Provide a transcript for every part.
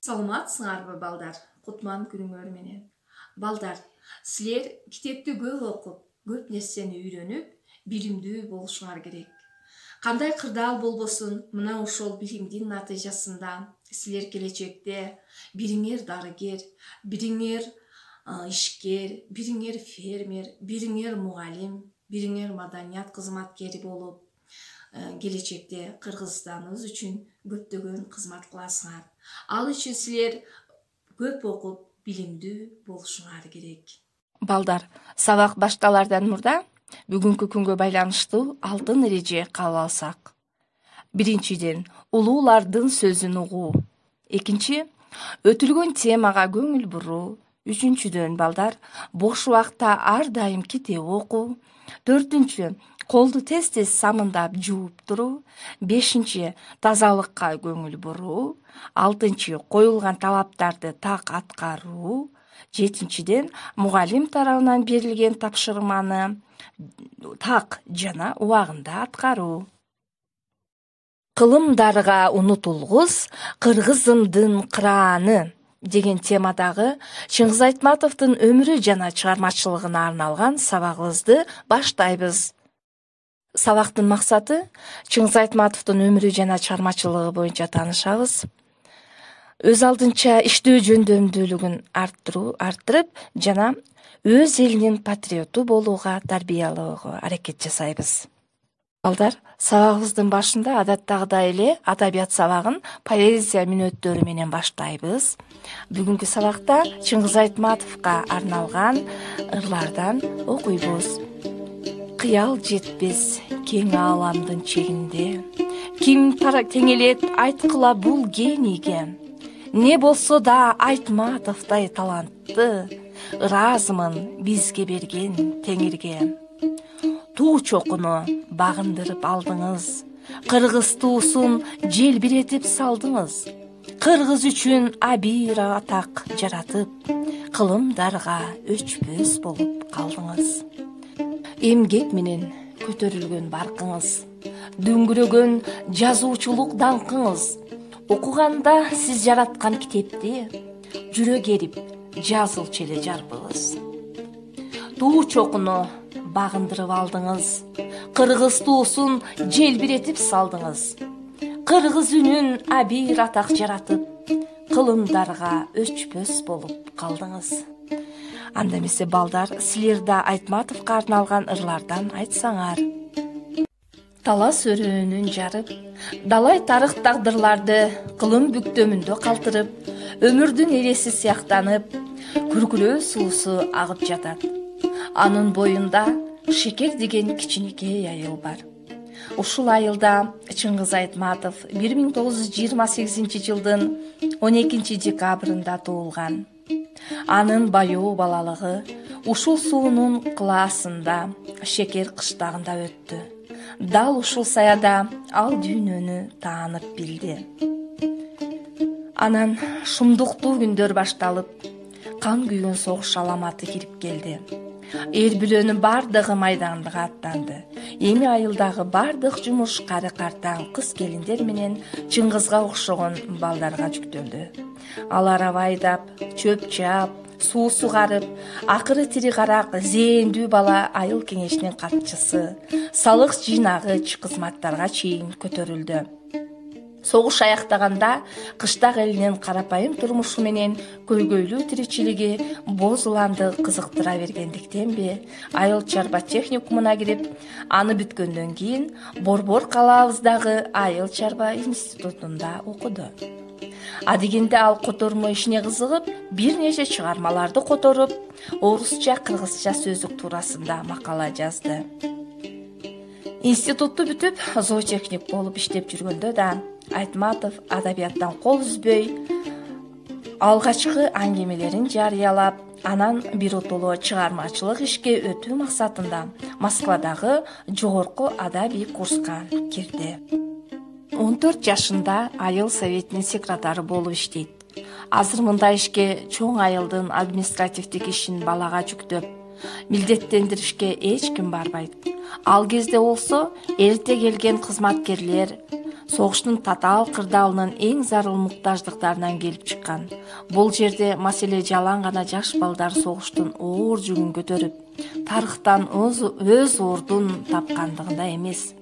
Саламатсыңарбы балдар? Кутман күнүңөр менен. Балдар, силер китепти көп окуп, көп нерсени үйрөнүп, билимдүү болушуңар керек. Кандай кырдаал болбосун, мына ошол билимдин натыйжасында силер келечекте бириңер дарыгер, бириңер ишкер, бириңер фермер, бириңер мугалим, бириңер маданият кызматкери болуп, келечекте Кыргызстаныбыз үчүн көптөгөн кызмат кыласыңар. Ал үчүн силер көп окуп, билимдүү болушуңар керек. Балдар, сабак башталардан мурда бүгүнкү күнгө байланыштуу алтын эреже кабыл алсак. Биринчиден, улуулардын сөзүн угуу. Экинчи, өтүлгөн темага көңүл буруу. Үчүнчүдөн, балдар, бош убакта ар дайым китеп окуу. Төртүнчү, колду тез-тез самындап жууп туруу. Бешинчи, тазалыкка көңүл буруу. Алтынчы, коюлган талаптарды так аткаруу. Жетинчиден, мугалим тарабынан берилген тапшырманы так жана убагында аткаруу. Кылымдарга унутулгус кыргызымдын кырааны деген темадагы Чыңгыз Айтматовдун өмүрү жана чыгармачылыгына арналган сабагыбызды баштайбыз. Сабактын максаты Чыңгыз Айтматовдун өмүрү жана чыгармачылыгы боюнча таанышабыз. Өз алдынча иштөө жөндөмдүүлүгүн арттырып жана өз элинин патриоту болууга тарбиялоого аракет жасайбыз. Балдар, сабагыбыздын башында адаттагыдай эле адабият сабагын поэзия мүнөттөрү менен баштайбыз. Бүгүнкү сабакта Чыңгыз Айтматовго арналган ырлардан окуйбуз. Кыял жетпес кең ааламдын чегинде, ким теңелет айткыла бул генийге. Не болсо да Айтматовдой талантты, ыраазымын бизге берген Теңирге. Туу чокуну багындырып алдыңыз, кыргыз туусун желбиретип салдыңыз. Кыргыз үчүн абийир атак жаратып, кылымдарга өчпөс болуп калдыңыз. Эмгек менен көтөрүлгөн баркыңыз, дөңгүрөгөн жазуучулук даңкыңыз. Окуганда сиз жараткан китепти жүрөк эрип жазылчу эле жарбыңыз. Туу чокуну багындырып алдыңыз, кыргыз туусун желбиретип салдыңыз. Кыргыз үнүн абийир атак жаратып, кылымдарга өчпөс болуп калдыңыз. Анда эмесе балдар, силер да Айтматовго арналган ырлардан айтсаңар. Талас өрөөнүн жарып, далай тарых тагдырларды кылым бүктөмүндө калтырып, өмүрдүн эреси сыяктанып, күркүрөө суусу агып жатат. Анын боюнда Шекер деген кичинекей айыл бар. Ушул айылда Чыңгыз Айтматов 1928 жылдын 12 декабрында туулган. Анын баёу балалыгы ушул суунун кылаасында Шекер кыштагында өттү. Дал ушул саяда ал дүйнөнү таанып билди. Анан шумдуктуу күндөр башталып, кан күйгөн согуш аламаты кирип келди. Эл бүлөнүн бардыгы майданга аттанды. Эми айылдагы бардык жумуш кары картаң кыз келиндер менен Чыңгызга окшогон балдарга жүктөлдү. Алар аба айдап, чөп чаап, суу сугарып, акыры тири карак зээндүү бала айыл кеңешинин катчысы, салык жыйнагыч кызматтарга чейин көтөрүлдү. Согуш аяктаганда кыштак элинин карапайым турмушу менен көйгөйлүү тиричилиги боз уланды кызыктыра бергендиктенби, айыл чарба техникумуна кирип, аны бүткөндөн кийин Борбор калаабыздагы айыл чарба институтунда окуду. Адегенде ал котормо ишине кызыгып, бир нече чыгармаларды которуп, орусча, кыргызча сөздүк туурасында макала жазды. Институтту бүтүп, зоотехник болуп иштеп жүргөндө да Айтматов адабияттан кол үзбөй, алгачкы аңгемелерин жарыялап, анан биротоло чыгармачылык ишке өтүү максатында Москвадагы жогорку адабий курска кирди. 14 жашында айыл советинин секретары болуп иштейт. Азыр мындай ишке чоң айылдын административдик ишин балага жүктөп, милдеттендиришке эч ким барбайт. Ал кезде болсо эрте келген кызматкерлер согуштун татаал кырдаалынын эң зарыл муктаждыктарынан келип чыккан. Бул жерде маселе жалаң гана жаш балдар согуштун оор жүгүн көтөрүп, тарыхтан өз ордун тапкандыгында эмес.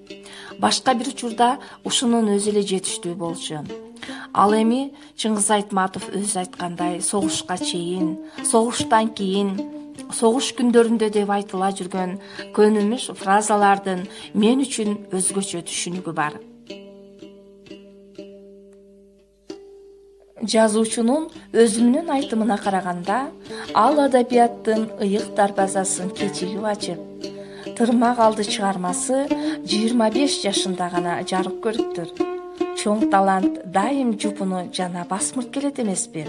Башка бир учурда ушунун өзү эле жетиштүү болчу. Ал эми Чыңгыз Айтматов өзү айткандай, согушка чейин, согуштан кийин, согуш күндөрүндө деп айтыла жүргөн көнүмүш фразалардын мен үчүн өзгөчө түшүнүгү бар. Жазуучунун өзүнүн айтымына караганда, ал адабияттын ыйык дарбазасын кечигип ачып, Тырмак алды чыгармасы 25 жашында гана жарык көрүптүр. Чоң талант дайым жупуну жана басмырт келет эмеспи?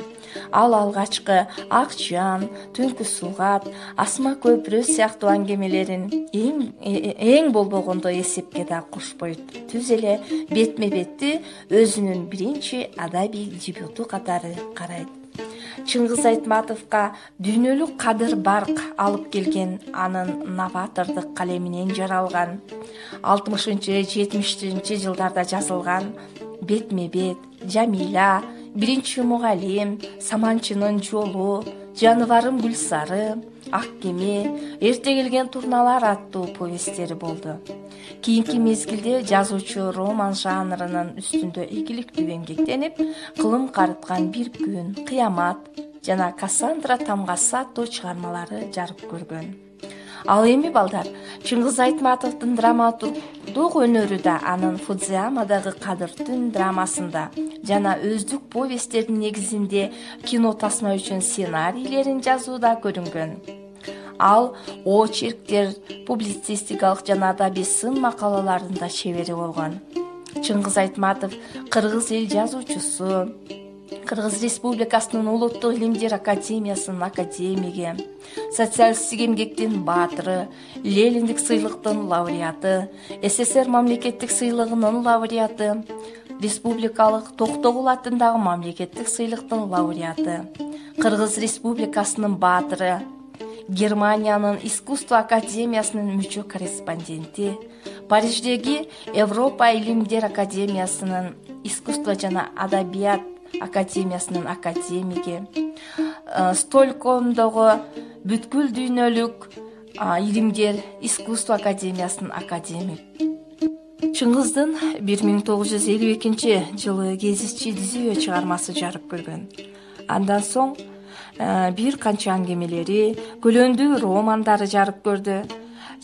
Ал алгачкы Ак жан, Түнкү сугат, Асма көпүрө сыяктуу аңгемелерин эң болбогондо эсепке да кошпой түз эле бетме бетти өзүнүн биринчи адабий дебюту катары карайт. Чыңгыз Айтматовго дүйнөлүк кадыр барк алып келген анын новатордук калеминен жаралган 60-70 жылдарда жазылган Бетме бет, Жамиля, Биринчи мугалим, Саманчынын жолу, Жаныбарым Гүлсары, Ак кеме, Эрте келген турналар аттуу повесттери болду. Кийинки мезгилде жазуучу роман жанрынын үстүндө ийгиликтүү эмгектенип, Кылым карыткан бир күн, Кыямат жана Кассандра тамгасы аттуу чыгармалары жарык көргөн. Ал эми балдар, Чыңгыз Айтматовдун драматургдук өнөрү да анын Фудзиямадагы Кадыр түн драмасында жана өздүк повесттердин негизинде кино тасма үчүн сценарийлерин жазууда көрүнгөн. Ал очерктер, публицистикалык жана адабий сын макалаларында чебери болгон. Чыңгыз Айтматов кыргыз эл жазуучусу, Кыргыз Республикасынын Улуттук илимдер академиясынын академиги, социалисттик эмгектин баатыры, Лениндик сыйлыктын лауреаты, СССР мамлекеттик сыйлыгынын лауреаты, республикалык Токтогул атындагы мамлекеттик сыйлыктын лауреаты, Кыргыз Республикасынын баатыры, Германиянын искусство академиясынын мүчө корреспонденти, Париждеги Европа илимдер академиясынын искусство жана адабият академиясынын академиги, Стокгольмдогу бүткүл дүйнөлүк илимдер искусство академиясынын академик. Чыңгыздын 1952 жылы Кезичи Дизиё чыгармасы жарык көргөн. Андан соң бир канча аңгемелери, көлөндүү романдары жарык көрдү.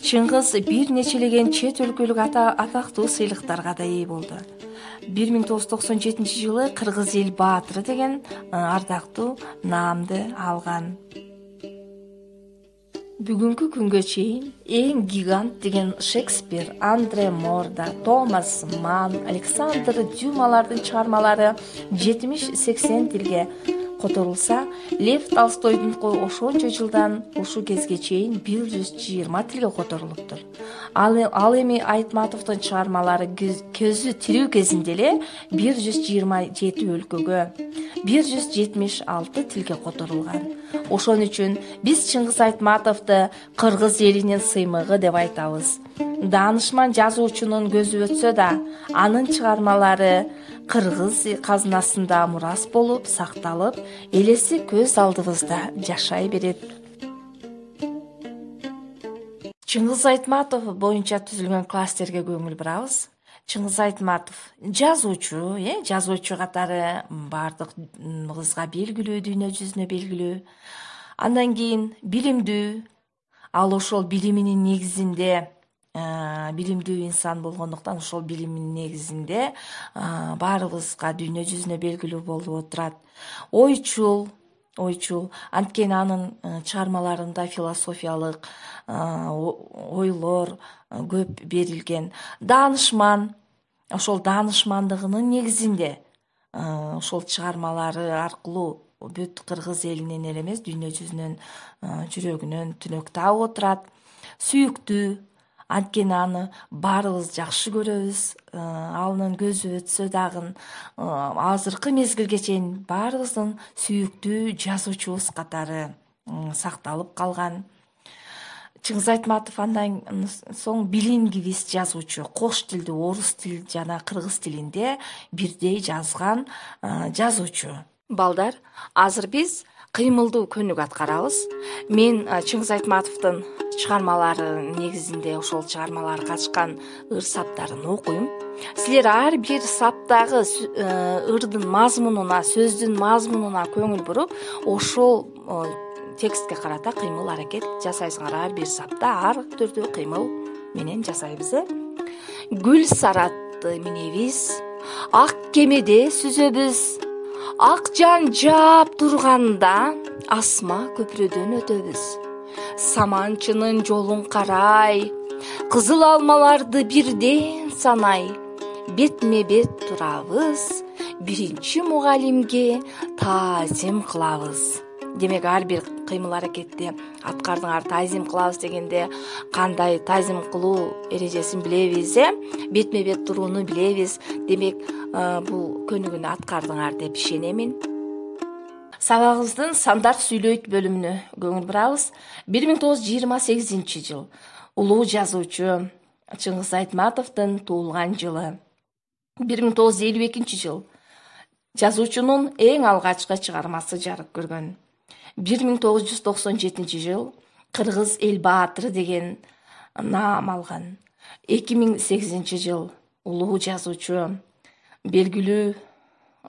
Чыңгыз бир нечелеген чет өлкөлүк атактуу сыйлыктарга да ээ болду. 1997 жылы Кыргыз эл баатыры деген ардактуу наамды алган. Бүгүнкү күнгө чейин эң гигант деген Шекспир, Андре Морда, Томас Манн, Александр Дюмалардын чыгармалары 70-80 тилге которулса, Лев Толстойдунку ошончо жылдан ушул кезге чейин 120 тилге которулуптур. Ал эми Айтматовдун чыгармалары көзү тирүү кезинде эле 127 өлкөгө, 176 тилге которулган. Ошон үчүн биз Чыңгыз Айтматовду кыргыз элинин сыймыгы деп айтабыз. Даанышман жазуучунун көзү өтсө да, анын чыгармалары кыргыз казынасында мурас болуп сакталып, элеси көз алдыбызда жашай берет. Чыңгыз Айтматов боюнча түзүлгөн класстерге көңүл бурабыз. Чыңгыз Айтматов жазуучу катары бардыгыбызга белгилүү, дүйнө жүзүнө белгилүү. Андан кийин билимдүү. Ал ошол билиминин негизинде билимдүү инсан болгондуктан ошол билиминин негизинде баарыбызга дүйнө жүзүнө белгилүү болуп отурат. Ойчул. Анткени анын чыгармаларында философиялык ойлор көп берилген. Даанышман. Ошол даанышмандыгынын негизинде ошол чыгармалары аркылуу бүт кыргыз элинин эле эмес, дүйнө жүзүнүн жүрөгүнөн түнөк таап отурат. Сүйүктүү. Анткени аны баарыбыз жакшы көрөбүз. Анын көзү өтсө дагы азыркы мезгилге чейин баарыбыздын сүйүктүү жазуучубуз катары сакталып калган. Чыңгыз Айтматов андан соң билингвист жазуучу, кош тилди орус тил жана кыргыз тилинде бирдей жазган жазуучу. Балдар, азыр биз кыймылдуу көнүк аткарабыз. Мен Чыңгыз Айтматовдун чыгармалары негизинде ошол чыгармалары катышкан ыр саптарын окуйм. Силер ар бир саптагы ырдын мазмунуна, сөздүн мазмунуна көңүл буруп, ошол текстке карата кыймыл аракет жасайсыңар. Ар бир сапта ар түрдүү кыймыл менен жасайбыз. Гүл саратты минебиз, ак кемеде сүзөбүз, ак жан жаап турганда асма көпүрөдөн өтөбүз. Саманчынын жолун карай, кызыл алмаларды бирден санай, бетме бет турабыз, биринчи мугалимге таазим кылабыз. Демек ар бир кыймыл аракетти аткардыңар. Таазим кылабыз дегенде кандай таазим кылуу эрежесин билебиз, бетме бет турууну билебиз. Демек бул көнүгүнү аткардыңар деп ишенемин. Сабагыбыздын Сандар сүйлөйт бөлүмүнө көңүл бурабыз. 1928 жыл улуу жазуучу Чыңгыз Айтматовдун туулган жылы. 1952 жыл жазуучунун эң алгачкы чыгармасы жарык көргөн. 1997 жыл Кыргыз эл баатыры деген наам алган. 2008 жыл улуу жазуучу, белгилүү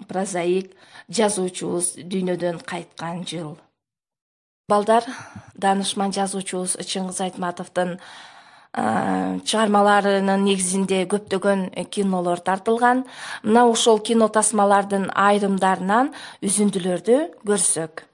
прозаик жазуучубуз дүйнөдөн кайткан жыл. Балдар, даанышман жазуучубуз Чыңгыз Айтматовдун чыгармаларынын негизинде көптөгөн кинолор тартылган. Мына ошол кино тасмалардын айрымдарынан үзүндүлөрдү көрсөк.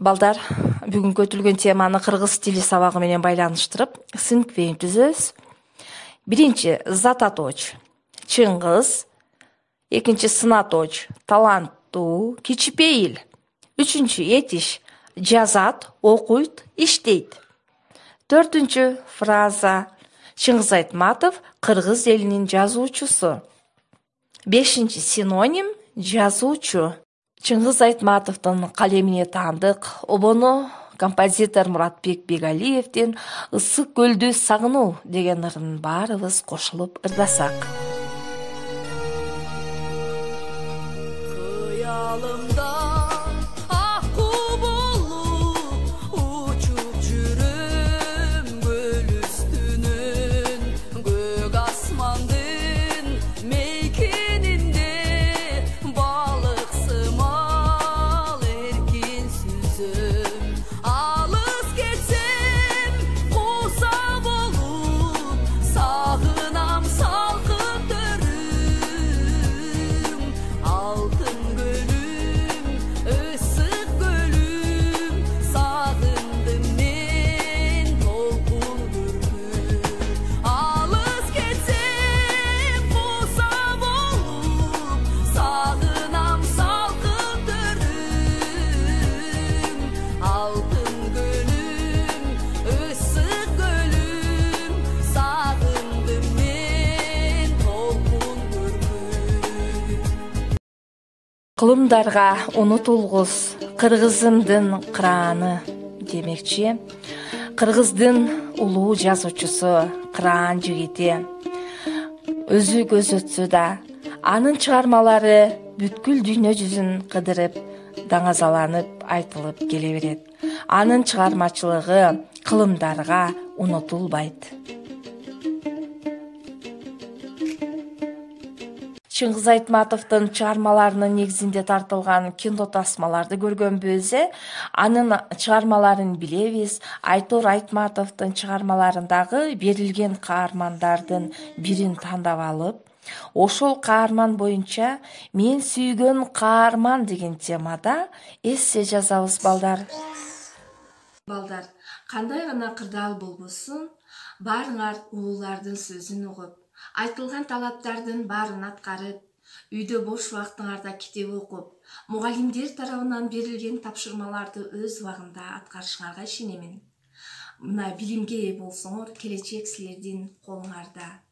Балдар, бүгүн көтүлгөн теманы кыргыз тили сабагы менен байланыштырып, синквейм түзөбүз. Биринчи зататоч Чыңгыз, экинчи сынаточ таланттуу, кичипейил. Үчүнчү этиш жазат, окуйт, иштейт. Төртүнчү фраза Чыңгыз Айтматов кыргыз элинин жазуучусу. Бешинчи синоним жазуучу. Чыңгыз Айтматовдун калемине таандык обону композитор Муратбек Бегалиевдин «Ысык көлдү сагынуу» деген ырын баарыбыз кошулуп ырдасак. Kıyalımda akku bulup uçup жүрüm göl üstünün gök asmandın meykeninde balık sımal erkin süzüm alız geçsem kozab olup sağınam salkıp dörüm altın gölüm ısık gölüm sağındım men tolkun gürküm alız geçsem kozab olup sağınam salkıp dörüm altın gölüm ısık gölüm sağındım men tolkun gürküm. Кылымдарга унутулгус кыргызымдын кырааны демекчи. Кыргыздын улуу жазуучусу, кыраан жигити өзү көз өтсө да, анын чыгармалары бүткүл дүйнө жүзүн кыдырып, даңазаланып айтылып келе берет. Анын чыгармачылыгы кылымдарга унутулбайт. Чыңгыз Айтматовдун чыгармаларынын негизинде тартылган кино тасмаларды көргөнбүз. Анын чыгармаларын билебиз. Айтор Айтматовдун чыгармаларындагы берилген каармандардын бирин тандап алып, ошол каарман боюнча мен сүйгөн каарман деген темада эссе жазабыз балдар. Балдар, кандай гана кырдаал болбосун, баарыңар улуулардын сөзүн угуп, айтылган талаптардын баарын аткарып, үйдө бош убактыңарда китеп окуп, мугалимдер тарабынан берилген тапшырмаларды өз убагында аткарышыңарга ишенемин. Мына билимге ээ болсоңор, келечек силердин колуңарда.